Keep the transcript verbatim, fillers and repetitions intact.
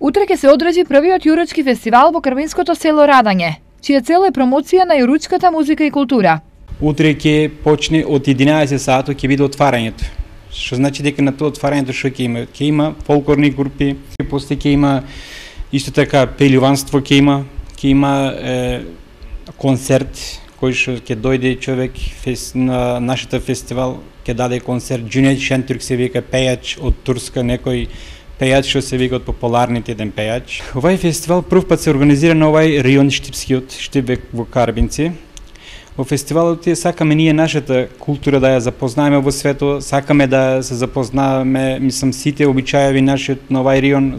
Утре ќе се одржи првиот јуручки фестивал во Крвинското село Радање, чија цел е промоција на јуручката музика и култура. Утре ќе почне од единаесет сати ќе биде отварањето. Што значи дека на тоа отварањето што ќе има? Ќе има фолклорни групи, после ќе има исто така пеливанство, ќе има, ќе има е, концерт кој што ќе дојде човек фест, на нашата фестивал, ќе даде концерт. Джунет Шентурк се вика пејач од Турска, некој пејач што се вика од популарните еден пејач. Овај фестивал прв пат се организира на овај район Штипскиот, Штип во Карбинци. Во фестивалот сакаме ние нашата култура да ја запознаеме во светот, сакаме да се запознаваме, мислам, сите обичаеви нашиот на овај район.